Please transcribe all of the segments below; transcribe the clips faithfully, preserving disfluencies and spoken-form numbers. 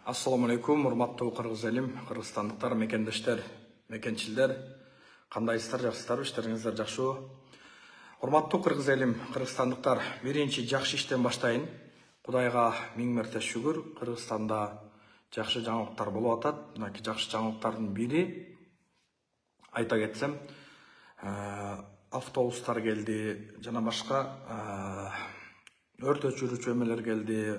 Assalamu alaikum, урматтуу кыргыз элим, кыргызстандыктар, мекендештер, мекенчилдер, кандайсыздар, жакшысыздарбы, иштериңиздер жакшыбы? Урматтуу кыргыз элим, кыргызстандыктар, биринчи жакшы иштен баштайын. Кудайга миң мерте шүгүр, Кыргызстанда жакшы жаңылыктар болуп атат. Мынакей жакшы жаңылыктардын бири айта кетсем, автобустар келди, жана башка өрт өчүрүүчү эмелер келди.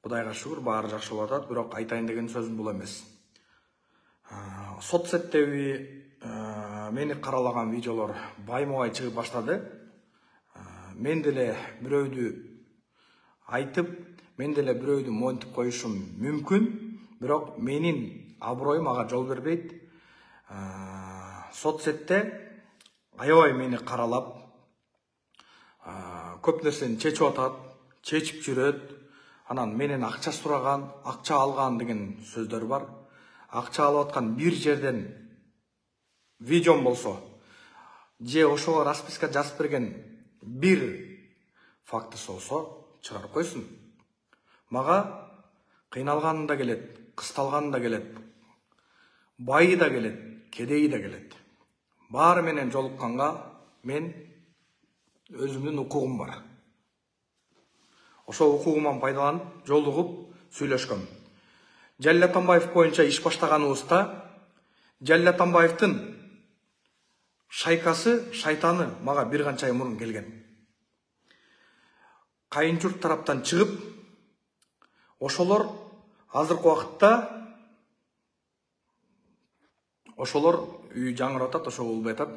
Кудайга шүгүр, баары жакшы болуп атат, бирок айтайын деген сөзүм бул эмес. Соцсеттеги мени каралаган видеолор байма-бай чыгып баштады. Мен деле бирөөдү айтып, мен деле бирөөдү монтип коюшум мүмкүн, бирок менин аброюм ага жол бербейт. Соцсетте аябай мени каралап, көп нерсени чечип атат, чечип жүрөт. Анан менен акча сураган, акча алган деген сөздөр бар. Акча алып аткан бир жерден видеом болсо, же ошого расписка жазып берген бир фактысы болсо чыгарып койсун. Мага кыйналганы да келет, кысталганы да келет, байы да келет, кедейи да келет. Баары менен жолукканга мен өзүмдүн укугум бар. Ошол укугуман пайдаланып, жолугуп сүйлөшкөм. Жалил Атамбаев боюнча иш баштаганыбызда Жалил Атамбаевдин шайкасы, шайтаны мага бир канча ай мурун келген. Кайын журт тараптан чыгып, ошолор азыркы убакытта ошолор үй жаңырап атат, ошого болбой атат.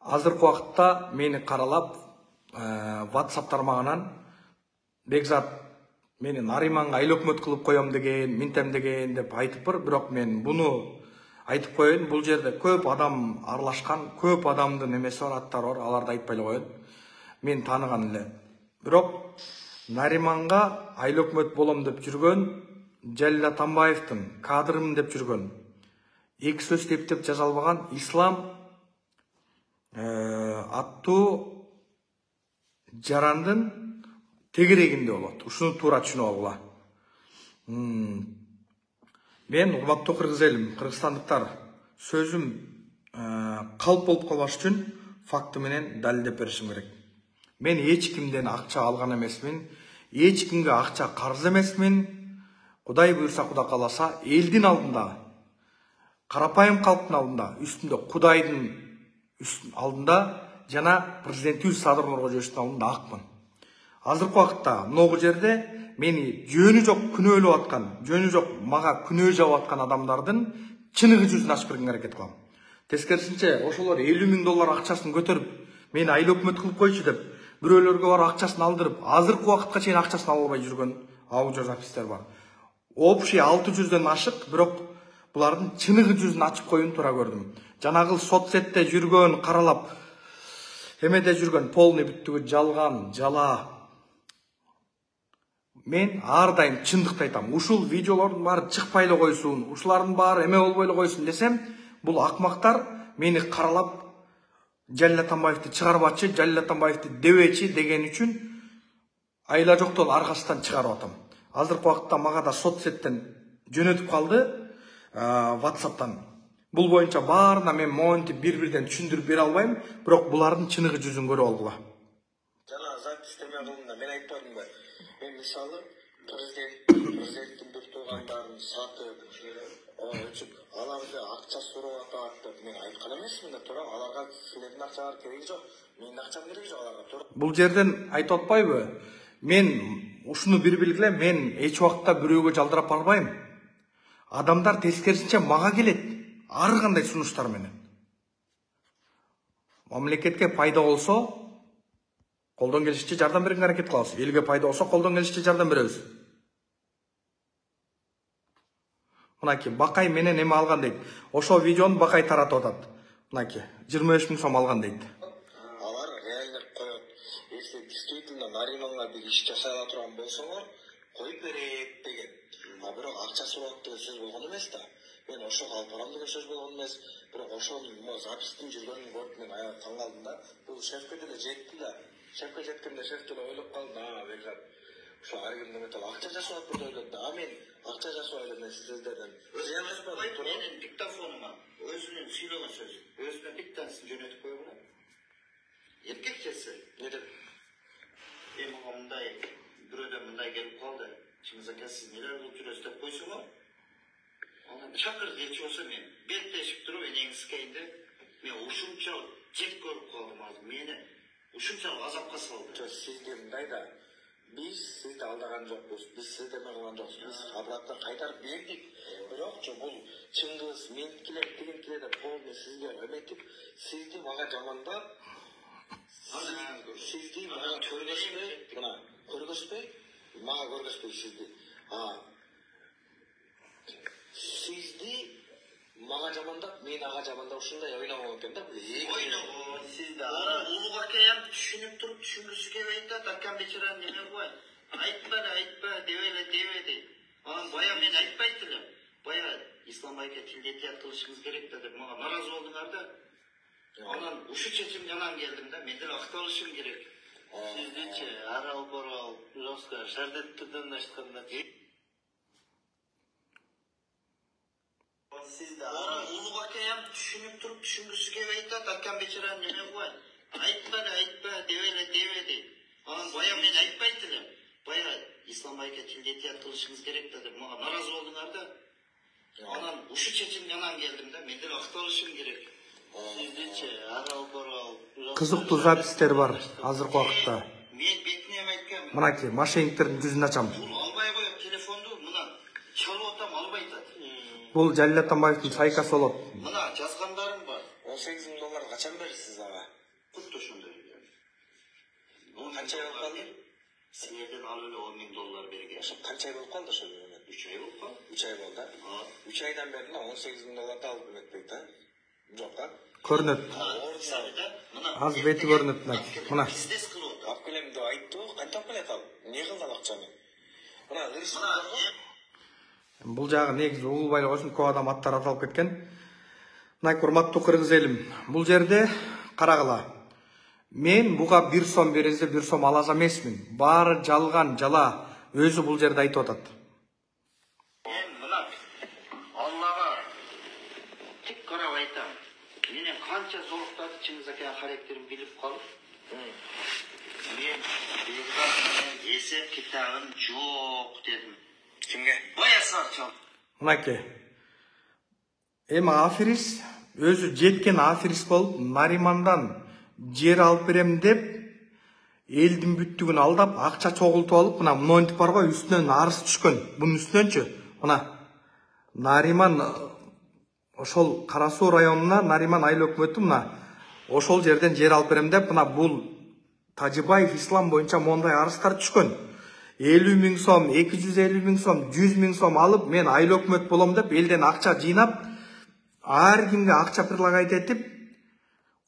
Азыркы убакытта мени каралап, WhatsApp тармагынан Бекзат мени Нариманга айыл өкмөт кылып коем деген, минтем деген деп айтып бар, бирок мен буну айтып коеюн. Бул жерде көп адам аралашкан, көп адамдын эмеси бар, аттары бар, аларды айтпай эле коеюн. Мен тааныган эле. Бирок Нариманга айыл өкмөт болом деп жүргөн, Жалил Атамбаевдин кадрымын деп жүргөн, эки сөз тептеп жаза албаган Ислам аттуу жарандын тегерегинде болот. Ушуну туура түшүнүп алгыла. Мен урматтуу кыргыз элим, кыргызстандыктар, сөзүм калп болуп калбаш үчүн факты менен далилдеп беришим керек. Мен эч кимден акча алган эмесмин, эч кимге акча карыз эмесмин. Кудай буйрса, Кудай кааласа, элдин алдында, карапайым калктын алдында, үстүндө Кудайдын алдында жана президентибиз Садыр Нуркожоевичтин алдында акмын. Азыркы убакытта могу жерде мени жөнү жок күнөөлөп аткан, жөнү жок мага күнөө жабып аткан адамдардын чыныгы жүзүн ачып берген аракет кылам. Тескерисинче, ошолор элүү миң доллар акчасын көтөрүп, мени айыл өкмөт кылып койчу деп, бирөөлөргө барып акчасын алдырып, азыркы убакытка чейин акчасын ала албай жүргөн аудио запистер бар. Общий алты жүздөн ашык, бирок булардын чыныгы жүзүн ачып коюуну туура көрдүм. Жанагы соцсетте жүргөн, каралап, эмеде жүргөн полный бүттүгү жалган, жала. Мен ар дайым чындыкты айтам. Ушул видеолордун баары чыкпай эле койсун, ушулардын баары эме болбой эле койсун десем, бул акмактар мени каралап Жалил Атамбаевди чыгарбачы, Жалил Атамбаевди дебечи деген үчүн айла жоктон аркасынан чыгарып атам. Азыркы убакытта мага да соцсеттен жөнөтүп калды, WhatsApp'тан. Бул боюнча баарына мен монтип бир-бирден түшүндүрүп бере албайм, бирок булардын чыныгы жүзүн көрүп алгыла. Жана запись эме кылдым, мен айтпадымбы? Мен мисалы президент, президенттин бир туугандарын сатып, өчүп, аларды акча сурап атат деп мен айткан эмесмин да, туура. Аларга силердин акчаңар кереги жок, менин акчам кереги жок аларга, туура. Бул жерден айтып атпайбы? Мен ушуну бир билгиле, мен эч убакта бирөөгө жалдырап барбайм. Адамдар тескерисинче мага келет, ар кандай сунуштар менен. Мамлекетке пайда болсо, колдон келишинче жардам берген аракет кылабыз. Элге пайда болсо, колдон келишинче жардам беребиз. Мынакей Бакай менен эме алган дейт. Ошол видеону Бакай таратып атат. Мынакей жыйырма беш миң сом алган дейт. Алар реально коет. Если действительно Нариманга бир иш жасай ала турган болсоңор, коюп берет деген. А бирок акча сурап деген сөз болгон эмес да. Мен ошого алып барам деген сөз болгон эмес. Бирок ошонун запистин жүргөнүн көрүп мен аябай таң калдым да. Бул шефке деле жетти да. Шефке жеткенде шеф деле ойлоп калды, а, Бекзат, Ошо ар кимдин металл акча жасап деп ойлойт да. А мен акча жасап элем сиздерден. Зыян ашпадым. Менин диктофонума өзүнүн сүйлөгөн сөзү, өзүнүн диктансын жөнөтүп койгула. Эркекчеси. Не деп? Эми мындай бирөөдөн мындай келип калды. Чыңгыз ака, сиз нелер кылып жүрөсүз деп койсоңо, анан чакыр делчи болсо мен беттешип туруп энеңизге деп мен ушунча жек көрүп калдым азыр. Мени ушунча азапка салды. Сизге мындай да, биз сизди алдаган жокпуз, биз сиздерме кылган жокпуз, биз обратно кайтарып бердик. Бирокчу бул Чыңгыз, меникилер, тигинкилер деп полный сизге эметип, сизди мага жамандап, сизди мага көргөзбөй, мына көргөзбөй, мага көргөзбөй сизди. А сизди мага жамандап, мен ага жамандап ушундай ойногон экен да. Ойногон сизди ара улуг акаям түшүнүп туруп түшүнгүсү келбей атат. Акам бечара неме кылбайт. Айтпа, айтпа, дебеле, дебе дейт. Анан бая мен айтпайт элем. Бая Ислам байке тилдетият кылышыңыз керек да деп мага наразы болдуңар да. Анан ушу чечимге анан келдим да, мен деле акталышым керек. Сиздичи арал борал жостко шардеттирден аштканда сизди ара улуг акаям түшүнүп туруп түшүнгүсү келбей атат. Акам бечара неме кылбайт. Айтпа, айтпа, дебеле, дебе дейт. Анан бая мен айтпайт элем. Бая Ислам байке тилдетият кылышыңыз керек да деп мага наразы болдуңар да. Анан ушу чечимге анан келдим да, мен деле акталышым керек. Сиздичи арал борал Кызыктуу запистер бар азыркы убакытта. Мен бетине айткам. Мынакей мошенниктердин жүзүн ачам. Бул албай коюп телефонду мына чалып атам, албай атат. Бул Жалил Атамбаевдин сайкасы болот. Мына жазгандарым бар. он сегиз миң доллар качан бересиз ага? Кутта ошондой. Бул канча ай болуп калды? Силерден алып эле он миң доллар берген. Ошо канча ай болуп калды ошо? үч ай болуп калды. үч ай болду. үч айдан бери он сегиз миң долларды алып эметпейт да? Жок а? Көрүнөт. Аз бети көрүнөт мынакей. Мына. Бизнес кылып атат. Алып келем деп айтты, кантип алып келет ал? Эмне кылды ал акчаны? Мына ырыс. Бул жагы негизи Улубай ошентип көп адам аттар аталып кеткен. Мына урматтуу кыргыз элим, бул жерде карагыла. Мен буга бир сом бересиз, бир сом алас эмесмин. Баары жалган, жала. Өзү бул жерде айтып атат. Мен мына Аллага тик карап айтам. Менен канча зоруктады Чыңгыз аканын характерин билип калып. Мен бекат эсеп китабым жок дедим. Кимге? Баясарчан. Мынакей. Эми аферист өзү жеткен аферист болуп, Наримандан жер алып берем деп, элдин бүттүгүн алдап, акча чогултуп алып, мына монтип бар го, үстүнөн арыз түшкөн. Бунун үстүнөнчү, мына Нариман ошол Кара Суу районуна Нариман айыл өкмөтү мына ошол жерден жер алып берем деп, мына бул Тажибаев ислам боюнча мондай арыздар түшкөн. элүү миң сом, эки жүз элүү миң сом, жүз миң сом алып, мен айыл өкмөт болом деп, элден акча жыйнап, ар кимге акча прилагать этип,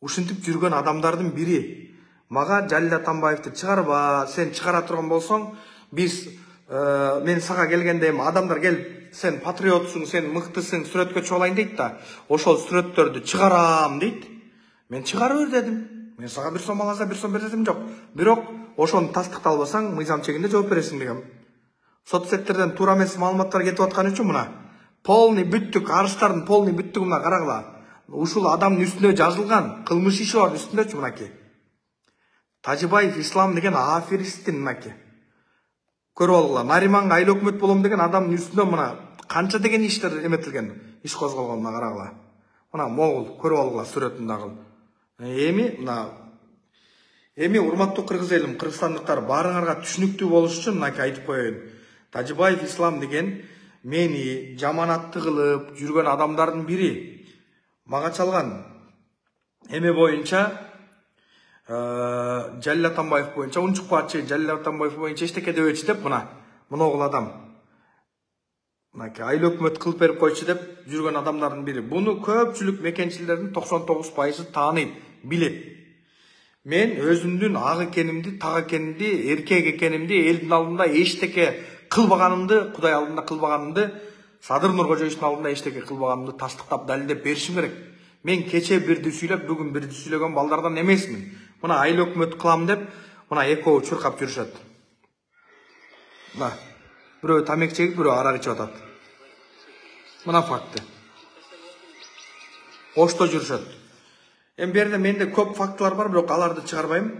ушинтип жүргөн адамдардын бири. Мага Жалил Атамбаевди чыгарба, сен чыгара турган болсоң, биз мен сага келгенде эми адамдар келип, сен патриотсуң, сен мыктысың, сүрөткө чыгып алайын дейт да, ошол сүрөттөрдү чыгарам дейт. Мен чыгара бер дедим. Мен сага бир сом аласа бир сом бересим жок. Бирок ошону тастыкталбасаң, мыйзам чегинде жооп бересиң дегем. Соцсеттерден туура эмес маалыматтар кетип аткан үчүн мына полный бүттүк арыздардын полный бүттүгү мына карагыла. Ушул адамдын үстүнө жазылган кылмыш иши бар үстүндөчү мынакей. Тажибаев ислам деген аферисттин мынакей. Көрүп алгыла. Нариманга айыл өкмөт болом деген адамдын үстүнө мына канча деген иштер эметилген, иш козголгон мына карагыла. Мына могул көрүп алгыла сүрөтүн дагы. Эми мына эми урматтуу кыргыз элим, кыргызстандыктар баарыңарга түшүнүктүү болуш үчүн мынакей айтып коеюн. Тажибаев ислам деген мени жаманатты кылып жүргөн адамдардын бири. Мага чалган эме боюнча Жалил Атамбаев боюнча унчукпачы, Жалил Атамбаев боюнча эчтеке дебечи деп мына моногул адам. Мынакей айыл өкмөт кылып берип койчу деп жүргөн адамдардын бири. Буну көпчүлүк мекенчилердин токсон тогуз пайызы тааныйт, билет. Мен өзүмдүн ак экенимди, так экенимди, эркек экенимди, элдин алдында эчтеке кылбаганымды, Кудай алдында кылбаганымды, Садыр Нуркожоевичтин алдында эчтеке кылбаганымды тастыктап далилдеп беришим керек. Мен кече бирди сүйлөп, бүгүн бирди сүйлөгөн балдардан эмесмин. Мына айыл өкмөт кылам деп, мына экөө чуркап жүрүшөт. Да. Бирөө тамек чегип, бирөө арак ичип атат. Мына факты. Ошто жүрүшөт. Эми бу жерде менде көп фактылар бар, бирок аларды чыгарбайм.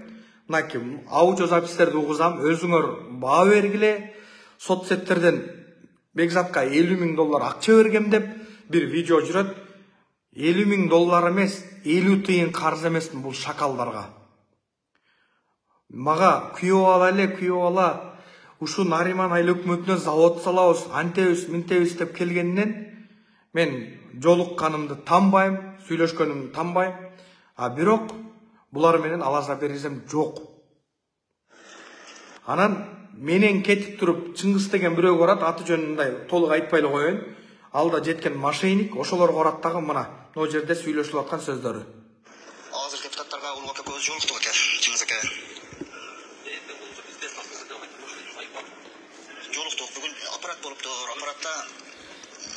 Мынакей аудиозапистерди угузам, өзүңөр баа бергиле. Соцсеттерден Бекзатка элүү миң доллар акча бергем деп бир видео жүрөт. элүү миң доллар эмес, элүү тыйын карыз эмесмин бул шакалдарга. Мага күйөө ала эле, күйөө ала. Ушу Нариман айыл өкмөтүнө завод салабыз, антебиз, минтебиз деп келгенден мен жолукканымды танбайм, сүйлөшкөнүмдү танбайм. А бирок булар менен алаза беризем жок. Анан менен кетип туруп Чыңгыз деген бирөө барат, аты жөнүн мындай толук айтпай эле коеюн. Алда жеткен мошенник, ошолорго барат дагы мына могу жерде сүйлөшүп аткан сөздөрү. Азыр депутаттарга улук ака көз жолуктук экен, Чыңгыз ака. Жолуктук, бүгүн аппарат болуптур. Аппаратта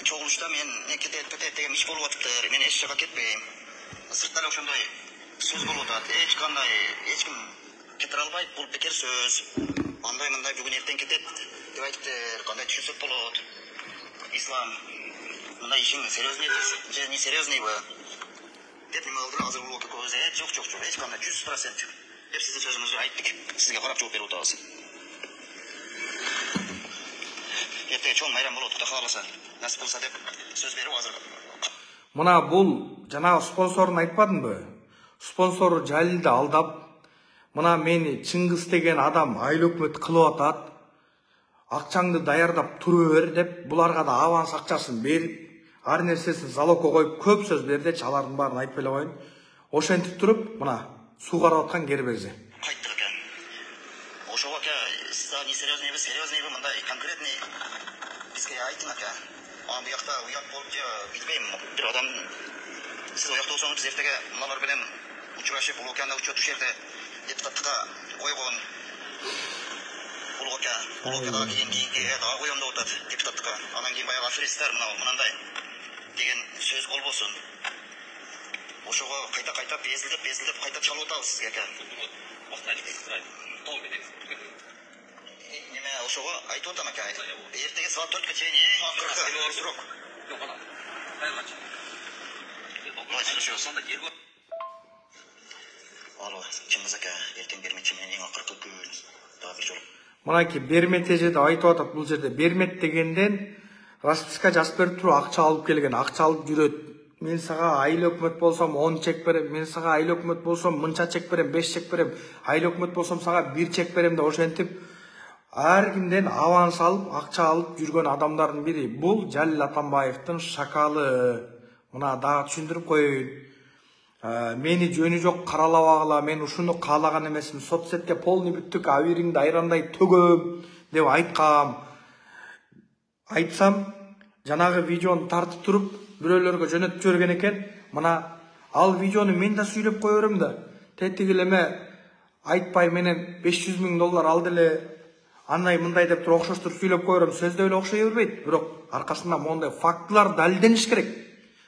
чогулушта мен кетет кетет деген иш болуп атыптыр. Мен эч жака кетпейм. Сыртта эле ошондой сөз болуп атат. Эч кандай, эч ким кетире албайт, бул бекер сөз. Андай мындай бүгүн эртең кетет деп айтыптыр. Кандай түшүнсөк болот? Ислам, мындай ишиң серьезный же не серьезныйбы? Деп неме кылдыр, азыр улук ака көз жок жок жок, эч кандай жүз процент деп сиздин сөзүңүздү айттык. Сизге карап жооп берип атабыз. Эртең чоң майрам болот, Кудай кааласа. Насип кылса деп сөз берип азыр. Мына бул жанагы спонсорун айтпадымбы? Спонсору Жалилди алдап, мына мени Чыңгыз деген адам айыл өкмөт кылып атат. Акчаңды даярдап туруп бер деп буларга да аванс акчасын берип, ар нерсесин залогко коюп көп сөз берди, алардын баарын айтпай эле коеюн. Ошентип туруп, мына суу карап аткан кербези. Кайттык экен. Ошого ака, сиз не серьезнийби, серьезнийби, мындай конкретный бизге айтың ака. Ан бу жакта уят болуп же билбейм, бир адам сиз уякта болсоңуз эртеге мыналар менен учурашып, улуу аканы учет ушерде депутаттыкка койгон. Улуу ака, улуу акага кийин кийинки дагы коем деп атат депутаттыкка. Анан кийин баягы аферисттер мынандай деген сөз болбосун. Ошого кайта кайта безилдеп безилдеп кайта чалып атабыз сизге ака. Неме ошого айтып атам ака. Эртеге саат төрткө чейин эң акыркы срок. Жок ана. Кайгачы. Алло, Чыңгыз ака, эртең берметчи менен эң акыркы күн дагы бир жолу. Мынакей бермет эже деп айтып атат, бул жерде бермет дегенден расписка жазып берип туруп акча алып келген, акча алып жүрөт. Мен сага айыл өкмөт болсом он чек берем, мен сага айыл өкмөт болсом мынча чек берем, беш чек берем, айыл өкмөт болсом сага бир чек берем деп ошентип ар кимден аванс алып, акча алып жүргөн адамдардын бири. Бул Жалил Атамбаевдин шакалы. Мына дагы түшүндүрүп коеюн. Мени жөнү жок каралабагыла, мен ушуну каалаган эмесмин. Соцсетке полный бүттүк, абириңди айрандай төгөм деп айткам. Айтсам, жанагы видеону тартып туруп, бирөөлөргө жөнөтүп жиберген экен. Мына ал видеону мен да сүйлөп кое берем да. Тетиги эле айтпай менен беш жүз миң доллар алды эле, андай мындай деп туруп окшоштуруп сүйлөп кое берем. Сөздө эле окшой бербейт, бирок аркасында мондай фактылар далилдениш керек.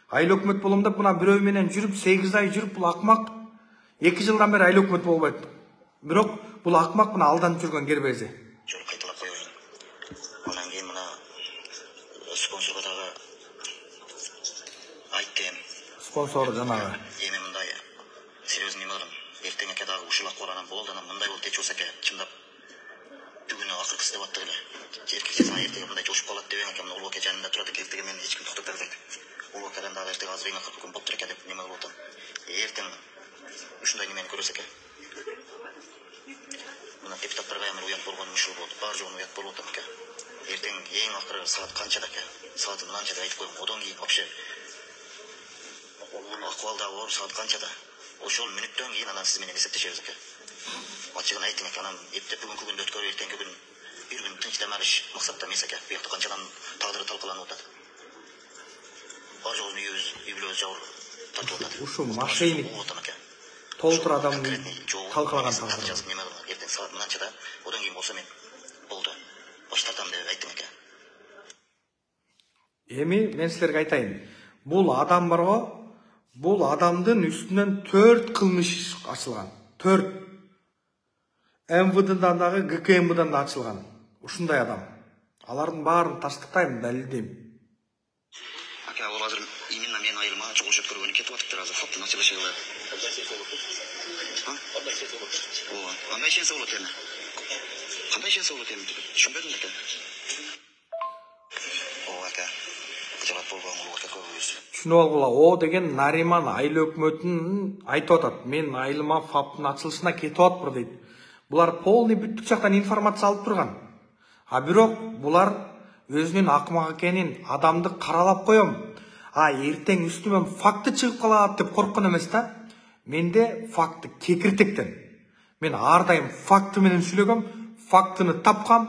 Айыл өкмөт болом деп мына бирөө менен жүрүп, сегиз ай жүрүп, бул акмак эки жылдан бери айыл өкмөт болбойт. Бирок бул акмак мына алданып жүргөн кербези. Жол кайталап коеюн. Анан кийин мына спонсорго дагы айттым. Спонсор жанагы. Эми мындай серьезный эмелим. Эртең ака дагы ушул акыбаланан болду, анан мындай болуп кетчү болсо ака, чындап бүгүн акыркысы деп аттык эле. Эркек эртеге мындай жошуп калат деп ака, мына улуу ака жанында турат экен, эртеге мени эч ким токтоп бербейт. Улуу акадан дагы эртеге азыр эң акыркы күн болуптур экен деп неме кылып атам. Эртең ушундай немени көрөсүз экен. Мына депутаттарга эми уят болгон ушул болот. Бар жогун уят болуп атам экен. Эртең эң акыры саат канчада экен? Сааты мынанча деп айтып коем. Одан кийин вообще акыбалдагы болуп саат канчада? Ошол мүнөттөн кийин анан сиз менен эсептешебиз экен. Ачыгын айтың экен, анан эптеп бүгүнкү күндү өткөрүп эртеңки күн бир күн тынч дем алыш максатта эмес экен. Бу жакта канчадан тагдыры талкаланып атат. Бар жолун үйүбүз, үй-бүлөбүз жабыр тартып атат. Ушу мошенник толтур адамды талкалаган тагдыр. Жазып неме кылган, эртең саат мынанчада, одан кийин болсо мен болду. Баш тартам деп айттым экен. Эми мен силерге айтайын. Бул адам барго, бул адамдын үстүнөн төрт кылмыш ачылган. төрт. эм вэ дэдан дагы гэ ка эм дан да ачылган. ушундай адам. Алардын баарын таштыктайм, далилдейм. Ака, ол азыр именно менин айылыма чогулуш өткөргөнү кетип атыптыр азыр. Факты началышы кылып. Кандай сенсе болот? Кандай сенсе болот? Ооба. Кандай сенсе болот эми? Кандай сенсе болот эми? Түшүнбөдүм ака. Ооба ака. Кычалат болгон улуу ака көбүбүз. Түшүнүп алгыла, о деген Нариман айыл өкмөтүн айтып атат. Мен айылыма фаптын ачылышына кетип атпыр дейт. Булар полный бүттүк жактан информация алып турган. А бирок булар өзүнүн акмак экенин, адамды каралап коем. А эртең үстүмөн факты чыгып калат деп корккон эмес да. Менде факты кекиртектен. Мен ар дайым факты менен сүйлөгөм, фактыны тапкам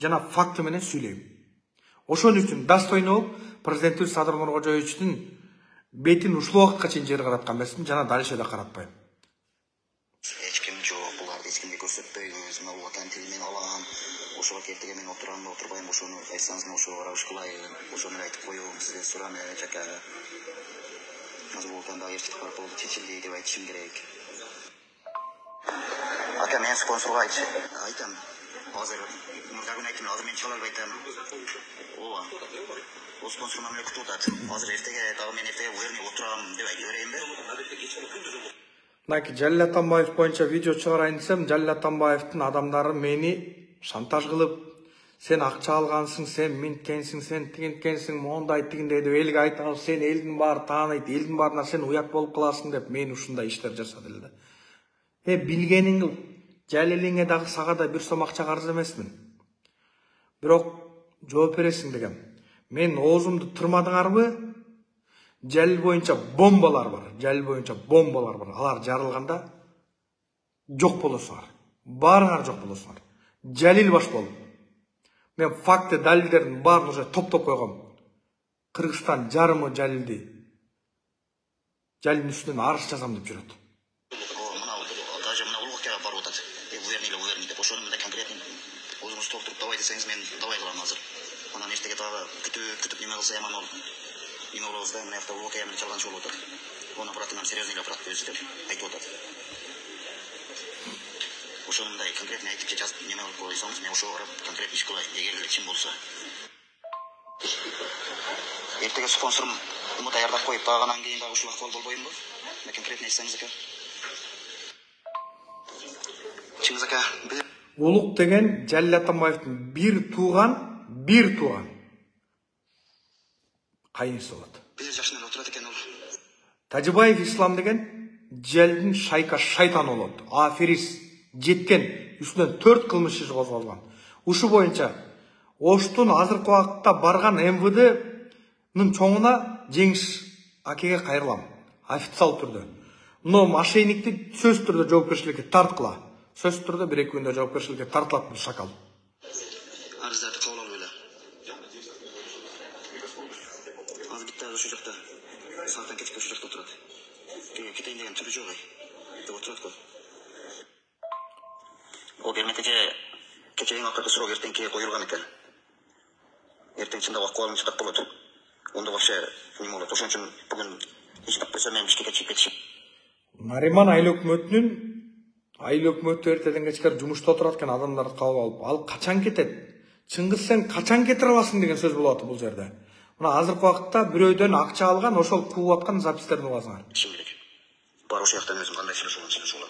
жана факты менен сүйлөйм. Ошон үчүн достойно болуп, президентибиз Садыр Нуркожоевичтин бетин ушул убакытка чейин жер караткан эмесмин, жана дальше да каратпайм. Эч ким жок, буларды эч кимге көрсөтпөйбүз. Мына ватан тилинен алам. Ошого кертиге мен отурамбы, отурбайм, ошону айтсаңыз мен ошого караш кылайын. Ошону айтып коем, сизден сурам ака. Азыр ватанда эчтек бар болду, чечилди деп айтышым керек. Ака, мен спонсорго айтчы. Айтам. Азыр мурдагы айтам, азыр мен чыга албай атам. Ооба. Ол спонсор мамиле күтүп атат. Азыр эртеге дагы мен эртеге уерне отурам деп айтып берейинби? Мынакей Жалил Атамбаев боюнча видео чыгарайын десем, Жалил Атамбаевдин адамдары мени шантаж кылып, сен акча алгансың, сен минткенсиң, сен тигинткенсиң, мондай тигиндей деп элге айтып, сен элдин баары тааныйт, элдин баарына сен уят болуп каласың деп мени ушундай иштер жасады эле да. Э, билгениң кыл. Жалилиңе дагы сага да бир сом акча карыз эмесмин. Бирок жооп бересиң дегем. Мен оозумду тырмадыңарбы? Жалил боюнча бомбалар бар. Жалил боюнча бомбалар бар. Алар жарылганда жок болосуңар. Баарыңар жок болосуңар. Жалил баш болуп. Мен факты, далилдердин баарын уже топтоп койгом. Кыргызстан жарымы Жалилди. Жалилдин үстүнөн арыз жазам деп жүрөт. Даже мына улукка барып атат. Уверни, уверни деп ошону мындай конкретно өзүңүз толтуруп давай десеңиз мен давай кылам азыр. Анан эртеге дагы күтүп күтүп неме кылса яман болот. Неме болобуз да, мына жакта улукка яман чалганчы болуп атат. Оны братынан серьезный эле брат өзү деп айтып атат. Ошону мындай конкретно айтып жазып неме кылып койсоңуз, мен ошого карап конкретно иш кылайын, эгер эле чын болсо. Эртеге спонсорум уну даярдап коюп, баганан кийин дагы ушул акыбал болбоймбу? Мен конкретно айтсаңыз ака. Чыңгыз ака, биз Улук деген Жалил Атамбаевдин бир тууган, бир тууган кайынысы болот. биз жакшы эле отурат экен ол. Тажибаев Ислам деген Жалилдин шайка шайтаны болот. Аферист жеткен, үстүнөн төрт кылмыш иши козголгон. Ушу боюнча Оштун азыркы убакытта барган эм вэ дэнин чоңуна Жеңиш акеге кайрылам. Официал түрдө. Но мошенникти сөз түрдө жоопкерчиликке тарткыла. Сөз түрдө бир эки күндө жоопкерчиликке тартылат бул шакал. Арыздарды кабыл алып эле. Азыр битте ошол жакта. Сааттан кечке ошол жакта отурат. Кеге кетейин деген түрү жок ай. Деп отурат го. Ол берметеже кече эң акыркы суроо эртеңки коюлган экен. Эртең чындап акыбалым чыдап болот. Ондо вообще неме болот. Ошон үчүн бүгүн иштеп койсо мен Бишкекке чыгып кетишим. Нариман айыл өкмөтүнүн айыл өкмөтү эртеден кечке жумушта отурат экен, адамдарды кабыл алып. Ал качан кетет? Чыңгыз сен качан кетире аласың деген сөз болот бул жерде. Мына азыркы убакытта бирөөдөн акча алган, ошол кууп аткан запистерди угасыңар. Ишим керек. Бар ошол жактан өзүм кандай сүйлөшөм, сүйлөшөм.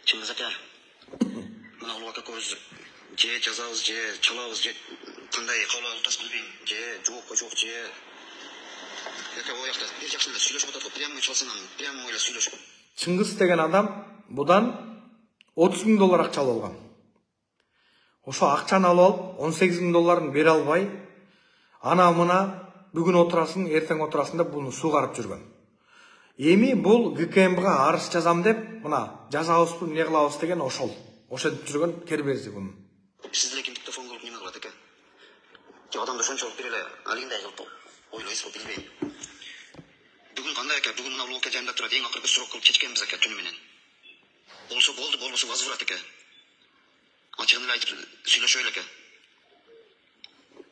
Чыңгыз ака, мына улуу ака көз же жазабыз, же чалабыз, же кандай кабыл алып билбейм, же жок, жок, же ака о жакта бир жакшы эле сүйлөшүп атат го, прямо чалсаңам, прямо эле сүйлөшүп. Чыңгыз деген адам будан отуз миң доллар акча алып алган. Ошо акчаны алып алып он сегиз миң долларын бере албай, ана мына бүгүн отурасың, эртең отурасың деп буну сугарып жүргөн. Эми бул гэ ка эм га арыз жазам деп, мына жазабызбы, эмне кылабыз деген ошол. Ошентип жүргөн кербези буну. Сиз деле кимдикте фон кылып неме кылат экен? Же адамды ошончолук бир эле алгындай кылып ойлойсузбу, билбейм. Бүгүн кандай ака? Бүгүн мына улуу жайында турат, эң акыркы суроо кылып чечкенбиз ака түнү менен. Болсо болду, болбосо возврат ака. Ачыгын эле айтып сүйлөшөйлү ака.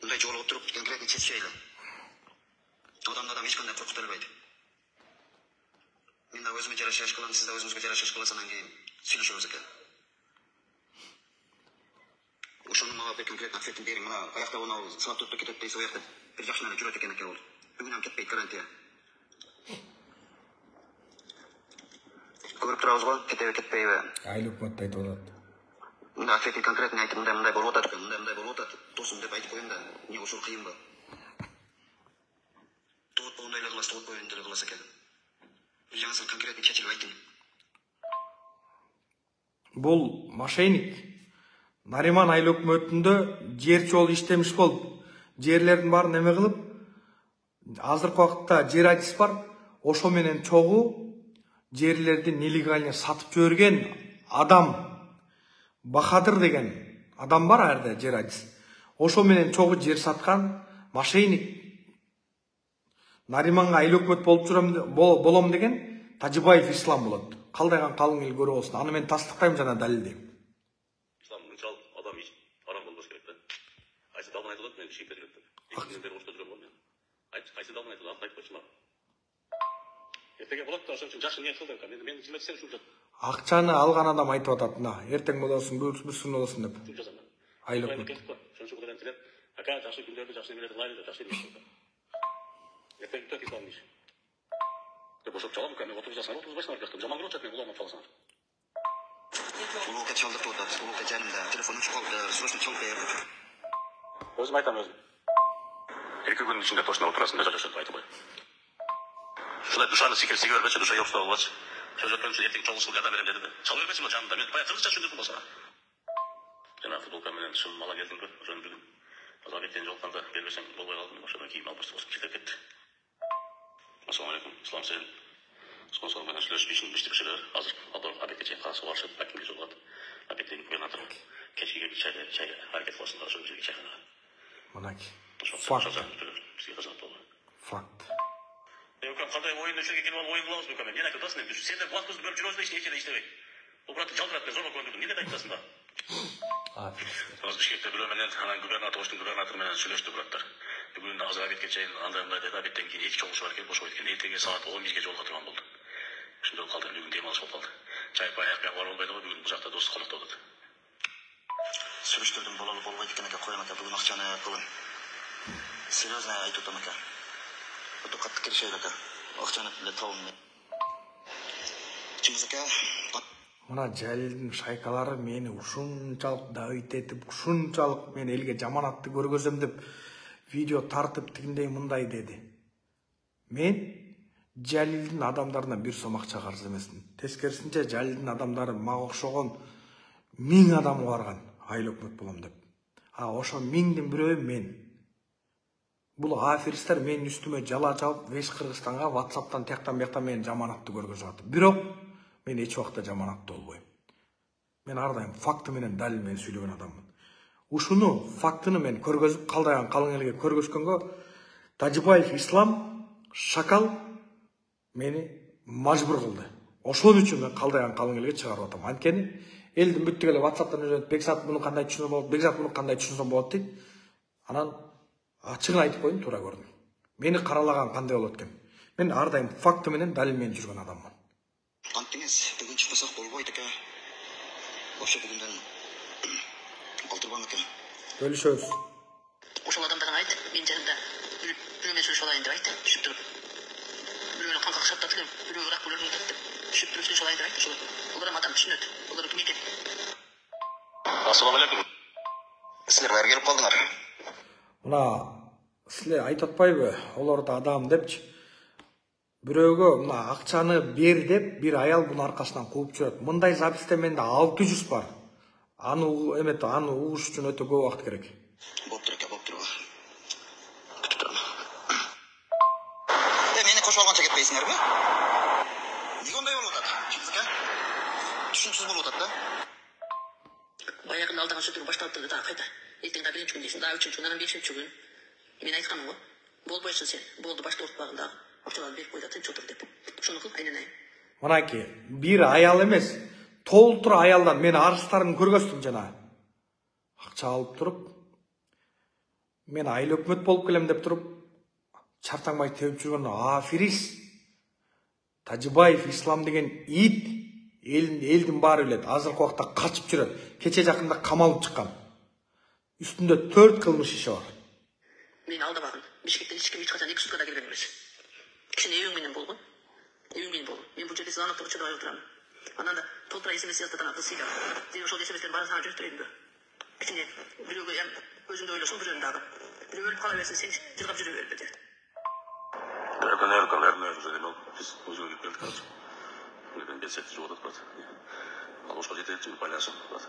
Мындай жолуп туруп конкретно чечейли. Адамды адам эч кандай коркута албайт. Мен да өзүмө жараша иш кылам, сиз да өзүңүзгө жараша иш кыласыз, анан кийин сүйлөшөбүз ака. ошонун мага бир конкретный ответин бериң. Мына аякта мына саат төрттө кетет дейсиз, аякта бир жакшы нерсе жүрөт экен экен ол. Бүгүн ham кетпейт, гарантия. Көрүп турабыз го, кетеби, кетпейби? Айыл өкмөттү айтып атат. Мында ответин конкретный айтып, мындай мындай болуп атат экен, мындай мындай болуп атат. Досум деп айтып коеюн да, эмне ошол кыйынбы? Тоот болгондой эле кыласыз, тоот болгондой эле кыласыз экен. Жаңсы конкретный чечилип айтың. Бул мошенник Нариман айыл өкмөтүндө жер чол иштемиш болуп, жерлердин баарын эме кылып, азыркы убакытта жер айтыс бар, ошо менен чогуу жерлерди нелегально сатып жиберген адам Бахадыр деген адам бар арда жер айтыс. Ошо менен чогуу жер саткан мошенник Нариманга айыл өкмөт болуп жүрөм болом деген Тажибаев Ислам болот. Калдайган калың эл көрүп болсун. Аны мен тастыктайм жана далилдейм. Ислам мынчал адам иш арам болбош керек да. Кайсы далдан айтылат, мен шийке жүрөт. Экинчиден бери ошто жүрөм го мен. Айт, кайсы далдан айтылат, аны айтпачы мага. Эртеге болот да, ошон үчүн жакшы ниет кыл деп. Мен мен кызмет сен ушул жат. Акчаны алган адам айтып атат мына. Эртең болосуң, бүрсүн болосуң деп. Ушул жазам. Айыл өкмөт. Ошон үчүн кудайдан тилеп, ака жакшы күндөрдү жакшы немелерди кылайлы деп, жакшы ниет кыл. Эртең бүтөт Исламдын иши. Деп бошоп чалам, мен отуз жашар, отуз башар жактым. Жаман көрүп жатат, мен улам калсам. Улука чалдырып атат, улука жанымда, телефонум чыгып калды, срочно чалып бер. Өзүм айтам өзүм. Эки күнүн ичинде точно отурасың да жашашат айтып кой. Ушундай душаны секирсиге бербечи, душа жоксуп албачы. Сөз өткөн үчүн эртең чогулуп жада берем деди да. Чалып бербесиң го жанымда. Мен баягы кыргызча түшүндүрдүм болсо. Жана футболка менен шым мала келдим го. Ошону бүгүн азап эттен жолукканда бербесең болбой калдым. Ошондон кийин албашты болсуп кетип кетти. Ассалам алейкум. Ислам сен спонсор менен сүйлөшүп ишин биштиришилер. Азыр алар обедке чейин калса барышып, акимге жолугат. Обедтен губернатор кечке чай чай аракет кыласың, ошол жерге чайханага. Мынаки. Факт. Факт. Мен кандай оюнду ишеге келип алып оюн кылабыз бекем. Мен айтып атасың, сен деп блокпосту бөлүп жүрөбүз да эч нерсе иштебейт. Бул брат жалгырат, мен зорго көндүрдүм. Эмне деп айтасың да? А, Азыр Бишкекте бирөө менен анан губернатор, оштун губернатору менен сүйлөштү браттар. Бүгүн азыр обедке чейин андай мындай деди, обедтен кийин эки чогулуш бар экен, бошобойт экен. Эртеге саат он бирге жолуга турган болду. Ошондой калды, бүгүн дем алыш болуп калды. Чай паяк менен бара болбойт го, бүгүн бул жакта дос конокто болот. Сүйлөштүрдүм, бололу болбойт экен экен, коем экен, бүгүн акчаны кылын. Серьезно айтып атам экен. Өтө катты келишет экен. Акчаны деле табым. Чымызыка мына Жалилдин шайкалары мени ушунчалык давит этип, ушунчалык мен элге жаман атты көргөзөм деп видео тартып тигиндей мындай деди. Мен Жалилдин адамдарына бир сом акча карыз эмесмин. Тескерисинче Жалилдин адамдары мага окшогон миң адам барган айыл өкмөт болом деп. А ошо миңдин бирөө мен. Бул аферисттер менин үстүмө жала жабып, весь Кыргызстанга WhatsApp'тан тияктан бияктан мени жаман атты көргөзүп атат. Бирок мен эч убакта жаман атты болбойм. Мен ар дайым факты менен далил менен сүйлөгөн адаммын. Ушуну фактыны мен көргөзүп, калдайган калың элге көргөзгөнгө Тажибаев Ислам шакал мени мажбур кылды. Ошон үчүн мен калдайган калың элге чыгарып атам. Анткени элдин бүттүк эле WhatsApp'тан өзөт, Бекзат муну кандай түшүнсө болот, Бекзат муну кандай түшүнсө болот дейт. Анан ачыгын айтып коеюн, туура көрдүм. Мени каралаган кандай болот экен? Мен ар дайым факты менен далил менен жүргөн адаммын. Антеңиз бүгүн чыкпасак болбойт экен. Вообще бүгүндөн калтырбам экен. Бөлүшөбүз. Ошол адамдарга айт, мен жанымда бирөө менен сүйлөшүп алайын деп айт, түшүп туруп. Бирөө менен канка кышап татылып, бирөө ырак бөлөрүн деп түшүп туруп сүйлөшүп алайын деп айт. Ошол олар адам түшүнөт. Олар ким экен? Ассалам алейкум. Силер баары келип калдыңар. Мына силер айтып атпайбы, олар да адам депчи. Бирөөгө мына акчаны бер деп бир аял мунун аркасынан кууп жүрөт. Мындай записте менде алты жүз бар. Аны эмет, аны угуш үчүн өтө көп убакыт керек. Болуп тур экен, болуп тур. Күтүп турам. Э, мени кошуп алганча кетпейсиңерби? Эмне ондай болуп атат? Чыксака? Түшүнүксүз болуп атат да. Баягы алдаган сөздөр башталып турду да, кайда? Эртең да биринчи күн дейсиң, да үчүнчү күн, анан бешинчи күн. Мен айтканым го. Болбойсуң сен. Болду, башта уртпагында. Акчаларды берип кой да тынч отур деп. Ошону кыл, айнанайын. Мынаки, бир аял эмес, толтур аялдан мен арыстарын көргөздүм жана. Акча алып туруп, мен айыл өкмөт болуп келем деп туруп, чартаңбай тебип жүргөн аферист Тажибаев Ислам деген ит элдин элдин баары билет. Азыркы убакта качып жүрөт. Кече жакында камалып чыккан. үстүндө төрт кылмыш иши бар. Мени алдабагын. Бишкектен эч ким эч качан эки суткада келген эмес. Кичине эбиң менен болгон. Эбиң менен болгон. Мен бул жерде сыланып туруп чыдабай отурам. Анан да толтура эсемес язаттан акыл сыйлап. Сен ошол эсеместердин баарын сага жүрүктүрөйүнбү? Кичине бирөөгө өзүңдү ойлошоң бирөөнү дагы. Бирөө өлүп кала берсин, сен жыргап жүрө бербеди. Эркин эркин эркин уже демел. Биз өзүгө кирип келдик азыр. Мен бет сетти жоготуп атат. Ал ошко жетекчи байланышып атат.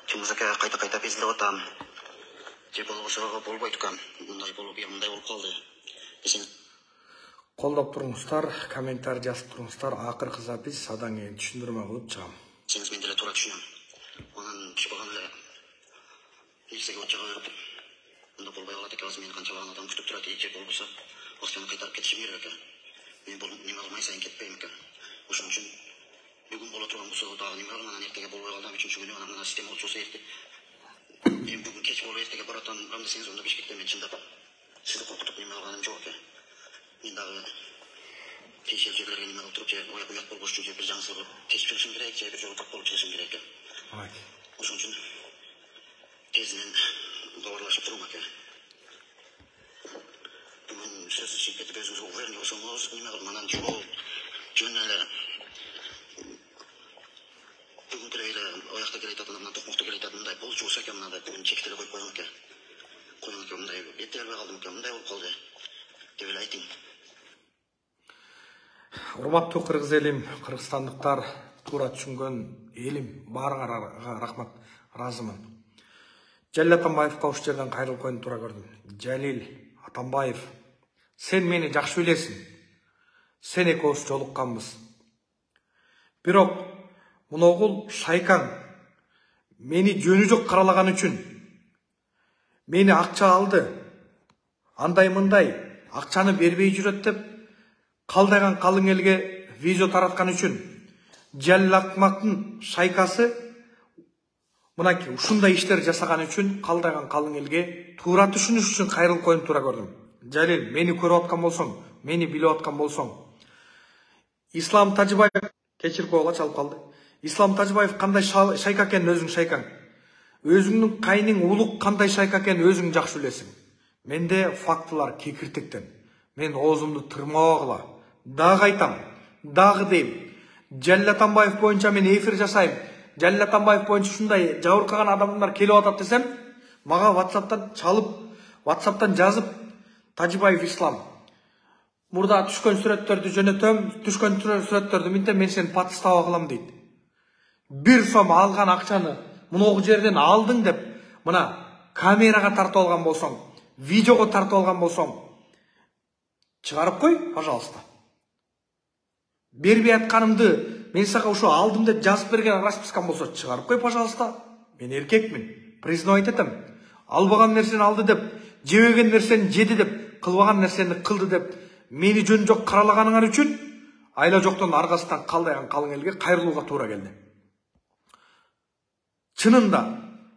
Чыңгызака кайта кайта безилип атам. Же болбосо болбойт экен. Мындай болуп, мындай болуп калды. Десең Колдоп туруңуздар, комментарий жазып туруңуздар. Акыркы запись адан кийин түшүндүрмө кылып чыгам. сеңиз мен деле туура түшүнөм. Анан түшпөгөн эле нерсеге отчага берип мында болбой калат экен. Азыр мени канчалаган адам күтүп турат, же болбосо акчаны кайтарып кетишим керек экен. Мен бул неме кылмай сайын кетпейм экен. Ошон үчүн бүгүн боло турган болсо дагы неме кылам, анан эртеге болбой калды, үчүнчү күнү анан мына система болчу болсо эрте. Мен бүгүн кеч болуп эртеге баратам, ам десеңиз онда Бишкектен мен чындап сизди коркутуп неме кылганым жок экен. Мен дагы тиешелүү жерлерге неме кылып туруп, же уят уят болбош үчүн же бир жаңсыз кылып тешип чыгышым керек, же бир жолу так болуп чыгышым керек экен. Ошон үчүн тезинен хабарлашып турум аке. Бүгүн сөзсүз чыгып кетип өзүңүзгө уверенный болсоңуз неме кылып анан жол жөн эле бүгүнкү эле аякта келе жатат, анан токмокто келе жатат, мындай болчу болсо экен, мындай бүгүн чекти эле коюп коюң аке. Коюң аке, мындай эте албай калдым экен, мындай болуп калды деп эле айтың. Урматтуу кыргыз элим, кыргызстандыктар, туура түшүнгөн элим, баарыңарга рахмат, ыраазымын. Жалил Атамбаевга ушул жерден кайрылып коюуну туура көрдүм. Жалил Атамбаев, сен мени жакшы билесиң. Сен экөөбүз жолукканбыз. Бирок муногул шайкаң мени жөнү жок каралаган үчүн мени акча алды. Андай мындай акчаны бербей жүрөт деп калдайган калың элге видео тараткан үчүн Жалил Акмактын шайкасы мынакей ушундай иштер жасаган үчүн калдайган калың элге туура түшүнүш үчүн кайрылып коюуну туура көрдүм. Жалил, мени көрүп аткан болсоң, мени билип аткан болсоң, Ислам Тажыбаев кечирип койгула чалып калды. Ислам Тажыбаев кандай шайка экенин өзүң шайкаң. Өзүңдүн кайның улук кандай шайка экенин өзүң жакшы билесиң. Менде фактылар кекиртектен. Мен оозумду тырмабагыла. Дагы айтам, дагы дейм. Жалил Атамбаев боюнча мен эфир жасайм. Жалил Атамбаев боюнча ушундай жабыркаган адамдар келип атат десем, мага WhatsApp'тан чалып, WhatsApp'тан жазып, Тажыбаев Ислам, мурда түшкөн сүрөттөрдү жөнөтөм, түшкөн сүрөттөрдү минтем, мен сени патыстап кылам дейт. Бир сом алган акчаны муногу жерден алдың деп, мына камерага тартып алган болсоң, видеого тартып алган болсоң, чыгарып кой, пожалуйста. Бербей атканымды мен сага ушу алдым деп жазып берген распискам болсо, чыгарып кой, пожалуйста. Мен эркекмин, признавать этем. Албаган нерсени алды деп, жебеген нерсени жеди деп, кылбаган нерсени кылды деп, мени жөн жок каралаганыңар үчүн айла жоктон аргасынан калдайган калың элге кайрылууга туура келди. Чынында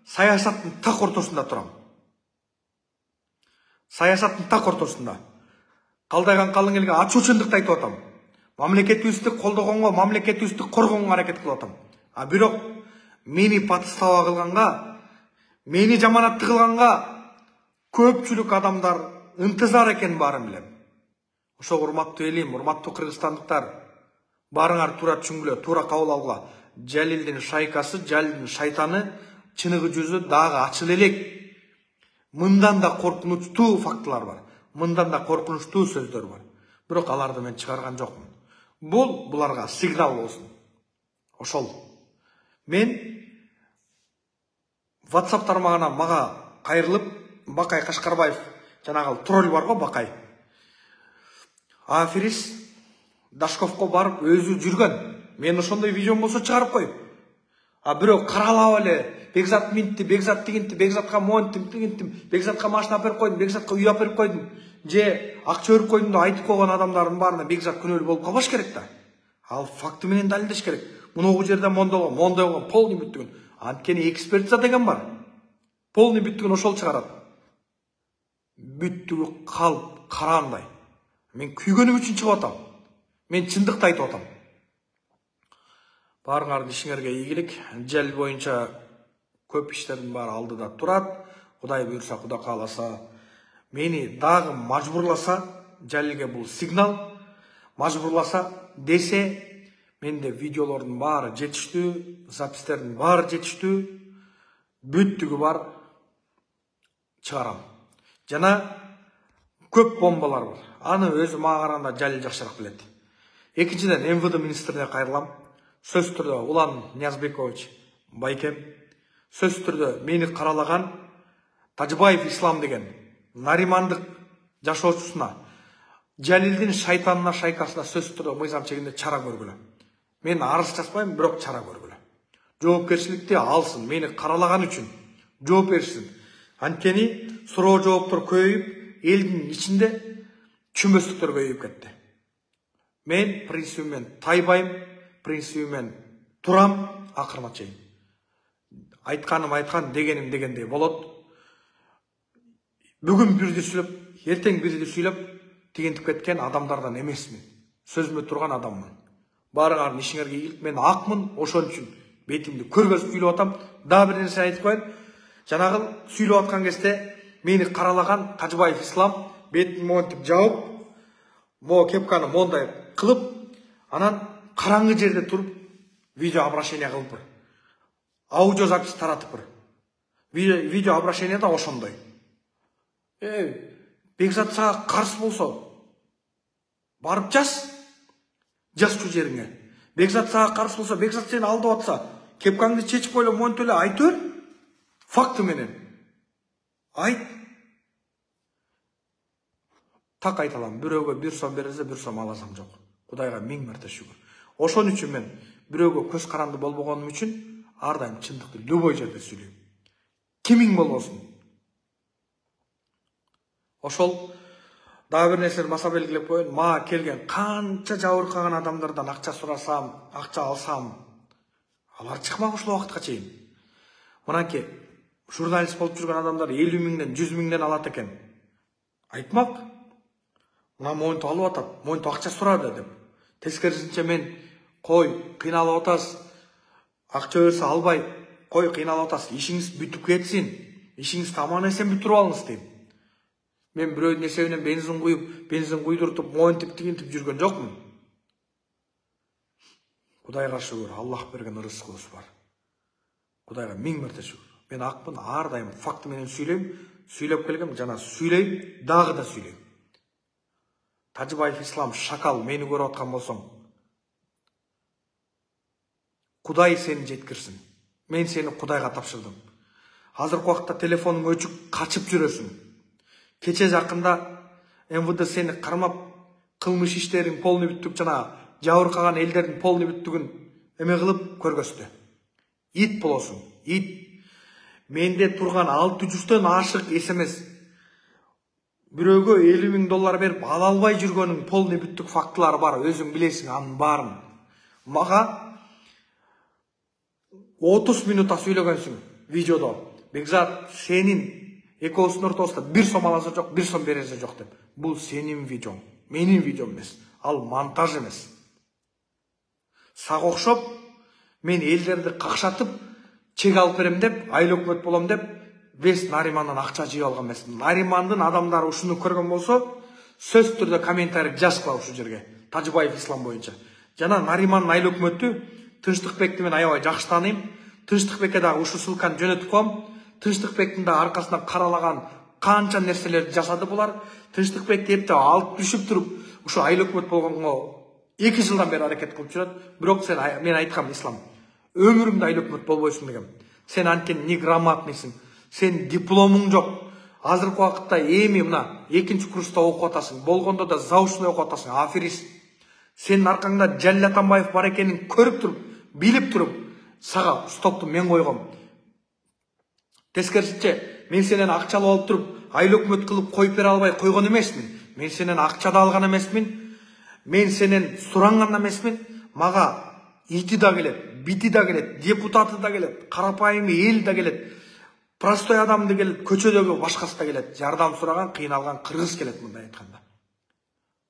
саясаттын так ортосунда турам. Саясаттын так ортосунда. Калдайган калың элге ачуучундукты айтып атам. Мамлекетибизди колдогонго, мамлекетибизди коргогонго аракет кылып атам. А бирок мени патыстава кылганга, мени жаманатты кылганга көпчүлүк адамдар ынтызар экенин баарын билем. Ошо урматтуу элим, урматтуу кыргызстандыктар, баарыңар туура түшүнгүлө, туура кабыл алгыла. Жалилдин шайкасы, Жалилдин шайтаны чыныгы жүзү дагы ачыл элек. Мындан да коркунучтуу фактылар бар. Мындан да коркунучтуу сөздөр бар. Бирок аларды мен чыгарган жокмун. Бул буларга сигнал болсун. Ошол. Мен WhatsApp тармагына мага кайрылып, Бакай Кашкарбаев, жанагы тролль бар го, Бакай. Аферис Дашковко барып өзү жүргөн. Мен ошондой видеом болсо чыгарып коюп. А бирок каралап эле, Бекзат минтти, Бекзат тигинти, Бекзатка монттим, тигинтим, Бекзатка машина берип койдум, Бекзатка үй берип койдум, же акча берип койдум деп айтып койгон адамдардын баарына Бекзат күнөөлүү болуп калбаш керек да. Ал факты менен далилдеш керек. Муногу жерде мондолгон, мондай болгон, полный бүттүгүн. Анткени экспертиза деген бар. Полный бүттүгүн ошол чыгарат. Бүттүгү калп карандай. Мен күйгөнүм үчүн чыгып атам. Мен чындыкты айтып атам. Баарыңардын ишиңерге ийгилик. Жалил боюнча көп иштердин баары алдыда турат. Кудай буйрса, Кудай кааласа, мени дагы мажбурласа, Жалилге бул сигнал, мажбурласа десе, менде видеолордун баары жетиштүү, запистердин баары жетиштүү, бүттүгү бар, чыгарам. Жана көп бомбалар бар. Аны өзү мага караганда Жалил жакшыраак билет. Экинчиден, эм вэ дэ министрине кайрылам. Сөз түрдө Улан Ниязбекович байкем, сөз түрдө мени каралаган Тажыбаев Ислам деген наримандык жашоочусуна, Жалилдин шайтанына, шайкасына сөз түрдө мыйзам чегинде чара көргүлө. Мен арыз жазбайм, бирок чара көргүлө. Жоопкерчиликти алсын, мени каралаган үчүн жооп беришсин. Анткени суроо жооптор көбөйүп, элдин ичинде чүмбөстүктөр көбөйүп кетти. Мен принцибимен тайбайм, принцибимен турам, акырына чейин. Айтканым айткан, дегеним дегендей болот. Бүгүн бирди сүйлөп, эртең бирди сүйлөп, тигинтип кеткен адамдардан эмесмин. Сөзүмө турган адаммын. Баарыңардын ишиңерге ийгилик, мен акмын, ошон үчүн бетимди көргөзүп сүйлөп атам. Дагы бир нерсе айтып коеюн. Жанагы сүйлөп аткан кезде мени каралаган Тажыбаев Ислам бетин монтип жаап, мо кепканы мондай кылып, анан караңгы жерде туруп видео обращение кылып бир. Аудио запись таратып бир. Видео обращение да ошондой. Э, Бекзат сага каршы болсо, барып жаз. Жазчу жериңе. Бекзат сага каршы болсо, Бекзат сени алдап атса, кепкаңды чечип койло, монтип эле айтып бер. Факты менен. Айт. Так айта алам. Бирөөгө бир сом берсе, бир сом аласам жок. Кудайга миң марта шүгүр. Ошон үчүн мен бирөөгө көз каранды болбогонум үчүн ар дайым чындыкты любой жерде сүйлөйм. Кимиң болбосун. Ошол дагы бир нерсени баса белгилеп коеюн. Мага келген канча жабыркаган адамдардан акча сурасам, акча алсам, алар чыкмак ушул убакытка чейин. Мынанки журналист болуп жүргөн адамдар элүү миңден, жүз миңден алат экен. Айтмак. Мына монтип алып атат, монтип акча сурады деп. Тескерисинче мен кой, кыйналып атасыз. Акча берсе албай, кой, кыйналып атасыз. Ишиңиз бүтүп кетсин. Ишиңиз таман эсен бүтүрүп алыңыз дейм. Мен бирөөнүн эсебинен бензин куюп, бензин куйдуртуп, монтип тигинтип жүргөн жокмун. Кудайга шүгүр, Аллах берген ырыскыбыз бар. Кудайга миң марта шүгүр. Мен акмын, ар дайым факты менен сүйлөйм, сүйлөп келгем, жана сүйлөйм, дагы да сүйлөйм. Тажыбаев Ислам шакал мени көрүп аткан болсоң, Кудай сени жеткирсин. Мен сени Кудайга тапшырдым. Азыркы убакытта телефонуң өчүк, качып жүрөсүң. Кече жакында эм вэ дэ сени кармап, кылмыш иштерин полный бүттүк жана жабыркаган элдердин полный бүттүгүн эме кылып көргөздү. Ит болосуң, ит. Менде турган алты жүздөн ашык эс эм эс. Бирөөгө элүү миң доллар берип ала албай жүргөнүң полный бүттүк фактылары бар, өзүң билесиң анын баарын. Мага отуз минутта сүйлөгөнсүң видеодо. Бекзат, сенин экөөбүздүн ортосунда бир сом аласы жок, бир сом береси жок деп. Бул сенин видеоң, менин видеом эмес. Ал монтаж эмес. Сага окшоп, мен элдерди какшатып, чек алып берем деп, айыл өкмөт болом деп, вес Наримандан акча жыйып алган эмесмин. Наримандын адамдары ушуну көргөн болсо, сөз түрдө комментарий жазгыла ушул жерге. Тажыбаев Ислам боюнча. Жана Наримандын айыл өкмөтү Тынчтыкбекти мен аябай жакшы тааныйм. Тынчтыкбекке дагы ушул ссылканы жөнөтүп коем. Тынчтыкбектин да аркасынан каралаган канча нерселерди жасады булар. Тынчтыкбекти эптеп алып түшүп туруп, ушу айыл өкмөт болгонго эки жылдан бери аракет кылып жүрөт. Бирок сен мен айткам Ислам, өмүрүңдө айыл өкмөт болбойсуң дегем. Сен анткени неграмотныйсың. Сен дипломуң жок. Азыркы убакытта эми мына экинчи курста окуп атасың. Болгондо да заочный окуп атасың. Аферист. Сенин аркаңда Жалил Атамбаев бар экенин көрүп туруп, билип туруп, сага стопту мен койгом. Тескерисинче, мен сенен акча алып туруп, айыл өкмөт кылып коюп бере албай койгон эмесмин. Мен сенен акча да алган эмесмин. Мен сенен суранган эмесмин. Мага ити да келет, бити да келет, депутаты да келет, карапайым эл да келет, простой адам да келет, көчөдөгү башкасы да келет. Жардам сураган, кыйналган кыргыз келет мындай айтканда.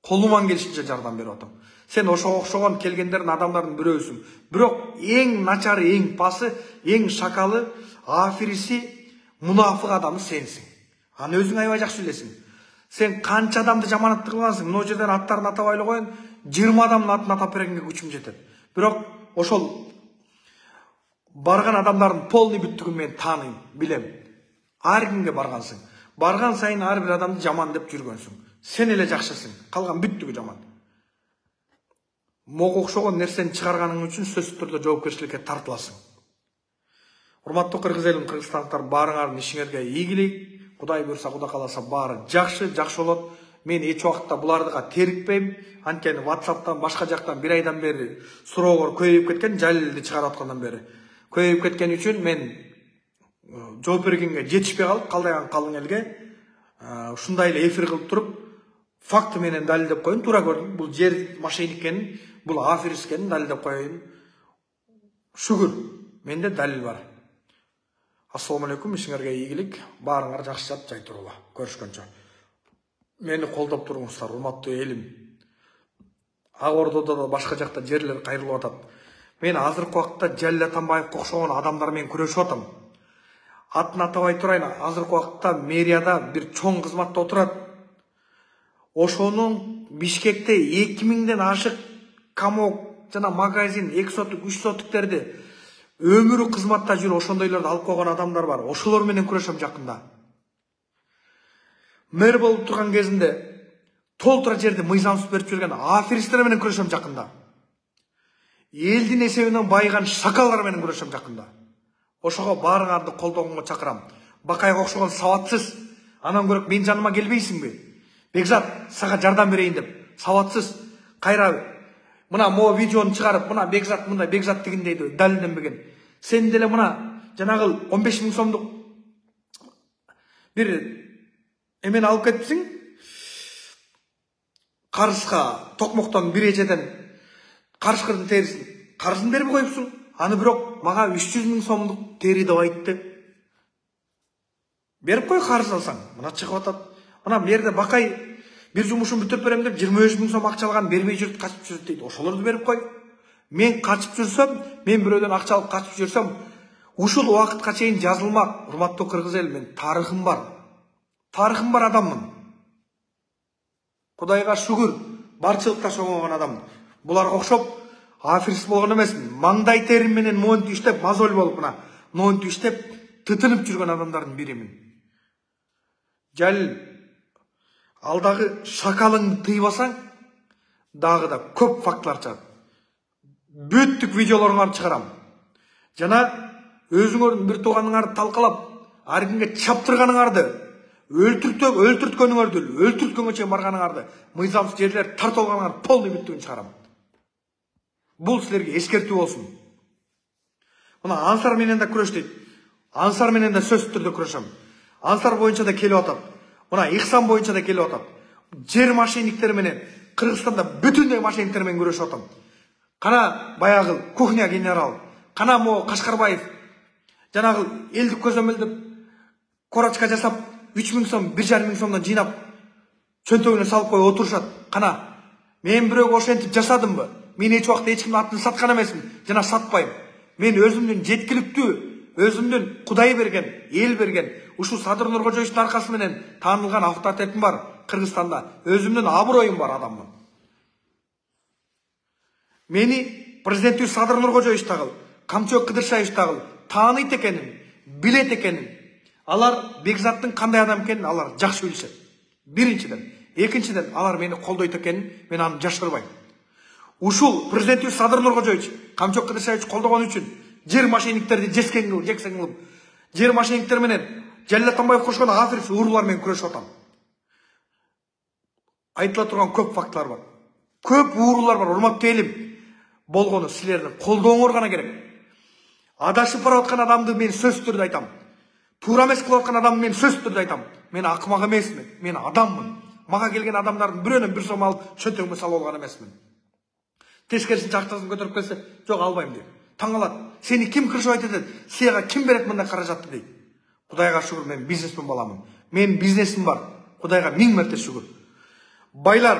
Колуман келишинче жардам берип атам. Сен ошого окшогон келгендердин адамдардын бирөөсүң. Бирок эң начары, эң пасы, эң шакалы, афириси, мунафык адамы сенсиң. Аны өзүң аябай жакшы билесиң. Сен канча адамды жаманатты кылгансың? Мына жерден аттарын атабай эле коеюн, жыйырма адамдын атын атап бергенге күчүм жетет. Бирок ошол барган адамдардын полный бүттүгүн мен тааныйм, билем. Ар кимге баргансың. Барган сайын ар бир адамды жаман деп жүргөнсүң. Сен эле жакшысың, калган бүттүгү жаман. Мого окшогон нерсени чыгарганың үчүн сөзсүз түрдө жоопкерчиликке тартыласың. Урматтуу кыргыз элим, кыргызстандыктар, баарыңардын ишиңерге ийгилик. Кудай буйрса, Кудай кааласа баары жакшы, жакшы болот. Мен эч убакытта булардыга терикпейм. Анткени WhatsApp'тан башка жактан бир айдан бери суроолор көбөйүп кеткен, Жалилди чыгарып аткандан бери. Көбөйүп кеткен үчүн мен жооп бергенге жетишпей калып, калдайган калың элге ушундай эле эфир кылып туруп, факты менен далилдеп коюн. Туура көрдүм. Бул жер мошенник экенин, бул аферист экенин далилдеп коюн. Шүгүр, менде далил бар. Ассаламу алейкум, ишиңерге ийгилик. Баарыңар жакшы жат, жай турула. Көрүшкөнчө. Мени колдоп туруңуздар, урматтуу элим. Ак Ордодо да башка жакта жерлер кайрылып атат. Мен азыркы убакытта Жалил Атамбаевге окшогон адамдар менен күрөшүп атам. Атын атабай турайын, азыркы убакытта мэрияда бир чоң кызматта отурат. Ошонун Бишкекте эки миңден ашык камок жана магазин, эки соттук, үч соттуктерди өмүрү кызматта жүрүп ошондойлорду алып койгон адамдар бар. Ошолор менен күрөшөм жакында. Мэр болуп турган кезинде толтура жерди мыйзамсыз берип жүргөн аферисттер менен күрөшөм жакында. Элдин эсебинен байыган шакалдар менен күрөшөм жакында. Ошого баарыңарды колдогонго чакырам. Бакайга окшогон сабатсыз, анан көрөк мен жаныма келбейсиңби? Бекзат, сага жардам берейин деп, сабатсыз, кайра мына мо видеону чыгарып, мына Бекзат мындай, Бекзат дегендейди, далилденбеген. Сен деле мына жанагы он беш миң сомдук бир эмени алып кетипсиң. Карызга токмоктон бир эжеден карышкырдын терисин, карызын берип коюпсуң. Аны бирок мага үч жүз миң сомдук тери деп айтты. Берип кой, карыз алсаң. Мына чыгып атат. Мына мерде Бакай бир жумушун бүтүрүп берем деп жыйырма беш миң сом акча алган, бербей жүрүп качып жүрүп дейт. Ошолорду берип кой. Мен качып жүрсөм, мен бирөөдөн акча алып качып жүрсөм, ушул убакытка чейин жазылмак. Урматтуу кыргыз эл, мен тарыхым бар. Тарыхым бар адаммын. Кудайга шүгүр, барчылыкта чоңойгон адам. Буларга окшоп аферист болгон эмесмин. Маңдай терим менен моонтип иштеп, мазоль болуп мына, моонтип иштеп, тытынып жүргөн адамдардын биримин. Жалил, алдагы шакалыңды тыйбасаң, дагы да көп фактылар чыгат. Бүттүк видеолоруңарды чыгарам. Жана өзүңөрдүн бир тууганыңарды талкалап, ар кимге чаптырганыңарды, өлтүртөк, өлтүрткөнүңөрдү, өлтүрткөнгө чейин барганыңарды, мыйзамсыз жерлер тартып алганыңарды полный бүттүгүн чыгарам. Бул силерге эскертүү болсун. Мына Ансар менен да күрөш дейт. Ансар менен да сөзсүз түрдө күрөшөм. Ансар боюнча да келип атат. Мына Ихсан боюнча да келип атат. Жер мошенниктери менен Кыргызстанда бүтүндөй мошенниктер менен күрөшүп атам. Кана баягы кухня генерал, кана мо Кашкарбаев, жанагы элдик көзөмөлдөп корочка жасап, үч миң сом, бир жарым миң сомдон жыйнап, чөнтөгүнө салып коюп отурушат. Кана, мен бирөөгө ошентип жасадымбы? Мен эч убакта эч кимдин атын саткан эмесмин, жана сатпайм. Мен өзүмдүн жеткиликтүү, өзүмдүн Кудай берген, эл берген, ушул Садыр Нуркожоевичтин аркасы менен таанылган авторитетим бар Кыргызстанда. Өзүмдүн аброюм бар адаммын. Мени президенттүү Садыр Нуркожоевич тагыл, Камчыбек Кыдыршаевич тагыл тааныйт экенин, билет экенин, алар Бекзаттын кандай адам экенин алар жакшы билишет. Биринчиден, экинчиден алар мени колдойт экенин мен аны жашырбайм. Ушул президенттүү Садыр Нуркожоевич, Камчыбек Кыдыршаевич колдогон үчүн жер мошенниктерди жескен кылып, жексен кылып, жер мошенниктер менен Жалил Атамбаев кошкон аферист уруулар менен күрөшүп атам. Айтыла турган көп фактылар бар. Көп уруулар бар, урматтуу элим. Болгону силердин колдооңор гана керек. Адашып барып аткан адамды мен сөзсүз түрдө айтам. Туура эмес кылып аткан адамды мен сөзсүз түрдө айтам. Мен акымак эмесмин, мен адаммын. Мага келген адамдардын бирөөнөн бир сом алып чөнтөгүмө салып алган эмесмин. Тескерисинче актасын көтөрүп келсе, жок албайм дейт. Таң калат. Сени ким кыржыбайт этет? Сага ким берет мындай каражатты дейт. Кудайга шүгүр, мен бизнесмен баламын. Мен бизнесим бар. Кудайга миң мерте шүгүр. Байлар,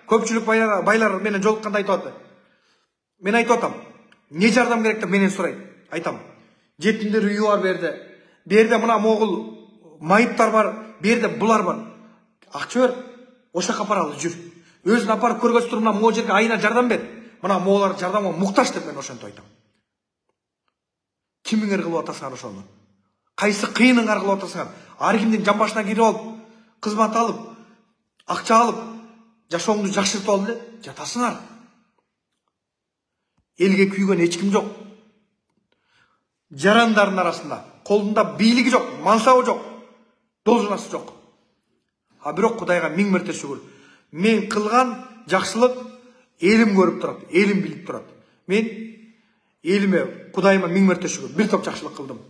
көпчүлүк байлар, байлар менен жолукканда айтып атты. Мен айтып атам, не жардам керек деп менен сурайт. Айтам, жетимдер үйү бар берде. Берде мына могул майыптар бар, берде булар бар. Акча бер, ошо жака апаралы жүр. Өзүн апарып көргөзүп туруп, мына могу жерге айына жардам бер. Мына моголар жардамга муктаж деп мен ошентип айтам. Кимиңер кылып атасыңар ошону? Кайсы кыйыныңар кылып атасыңар? Ар кимдин жамбашына кирип алып, кызмат алып, акча алып, жашооңду жакшыртып алып эле жатасыңар. Элге күйгөн эч ким жок. Жарандардын арасында колунда бийлиги жок, мансабы жок, должнасы жок. А бирок Кудайга миң мерте шүгүр. Мен кылган жакшылык элим көрүп турат, элим билип турат. Мен элиме, Кудайыма миң мерте шүгүр. Бир топ жакшылык кылдым.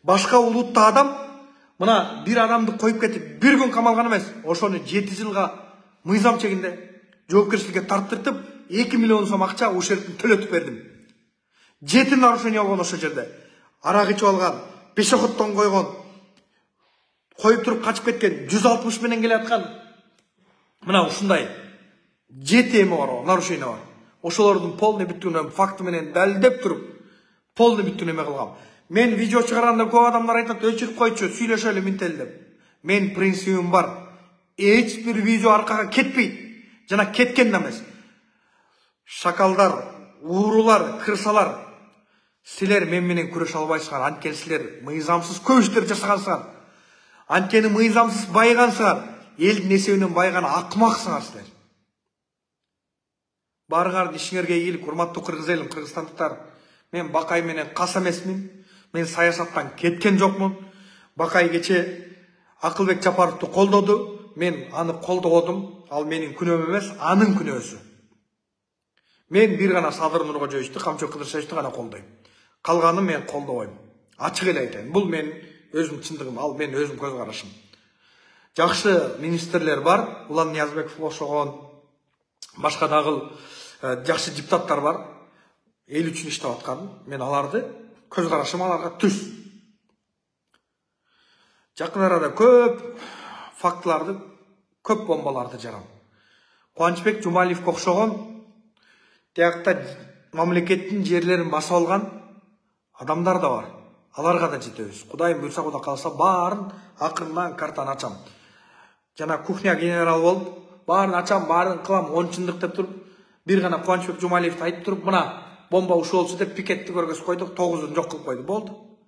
Башка улутта адам мына бир адамды коюп кетип, бир күн камалган эмес, ошону жети жылга мыйзам чегинде жоопкерчиликке тарттыртып, эки миллион сом акча ушерттин төлөтүп бердим. Жети нарушение болгон ошо жерде. Арак ичип алган, пешеходдон койгон, коюп туруп качып кеткен, жүз алтымыш менен келаткан. Мына ушундай жети эме бар, нарушение бар. Ошолордун полный бүтүнүн факты менен далилдеп туруп, полный бүтүн эме кылгам. Мен видео чыгарганда көп адамдар айтат, өчүрүп койчу, сүйлөшөлү минтели деп. Мен принцибим бар. Эч бир видео аркага кетпейт. Жана кеткен да эмес. Шакалдар, уурулар, кырсалар, силер мен менен күрөшө албайсыңар. Анткени силер мыйзамсыз көп иштер жасагансыңар. Анткени мыйзамсыз байгансыңар. Элдин эсебинен байган акмаксыңар силер. Барыңардын ишиңерге ийгилик, урматтуу кыргыз элим, кыргызстандыктар. Мен Бакай менен кас эмесмин. Мен саясаттан кеткен жокмун. Бакай кече Акылбек Жапаровду колдоду. Мен аны колдодум. Ал менин күнөөм эмес, анын күнөөсү. Мен бир гана Садыр Нуркожоевичти, Камчыбек Кыдыршевичти гана колдойм. Калганын мен колдобойм. Ачык эле айтайын. Бул мен өзүм чындыгым, ал мен өзүм көз карашым. Жакшы министрлер бар. Улан Ниязбеков окшогон, башка дагы жакшы депутаттар бар. Эл үчүн иштеп аткан. Мен аларды көз карашым аларга түз. Жакын арада көп фактыларды, көп бомбаларды жарам. Кубанычбек Жумалиевге окшогон тиякта мамлекеттин жерлерин басып алган адамдар да бар. Аларга да жетебиз. Кудайым буйрса, Кудай кааласа, баарын акырынан картаны ачам. Жана кухня генерал болуп, баарын ачам, баарын кылам, он чындык деп туруп, бир гана Кубанычбек Жумалиевди айтып туруп, мына бомба ушул болчу деп пикетти көргөзүп койдук, тогузун жок кылып койду. Болду.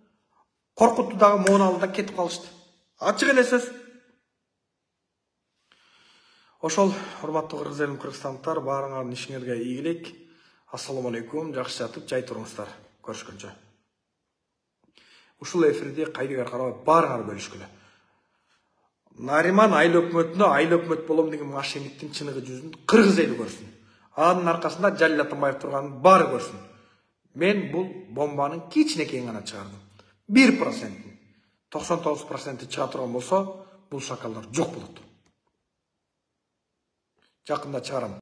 Коркутту дагы, моуну алды да кетип калышты. Ачык эле сөз. Ошол, урматтуу кыргыз элим, кыргызстандыктар, баарыңардын ишиңерге ийгилик. Ассаламу алейкум, жакшы жатып, жай туруңуздар. Көрүшкөнчө. Ушул эфирди кайдыгар карабай баарыңар бөлүшкүлө. Нариман айыл өкмөтүнө айыл өкмөт болом деген мошенниктин чыныгы жүзүн кыргыз эли көрсүн. Анын аркасында Жалил Атамбаев турганын баары көрсүн. Мен бул бомбанын кичинекейин гана чыгардым. бир процент. токсон тогуз процент чыга турган болсо, бул шакалдар жок болот. Жакында чыгарам.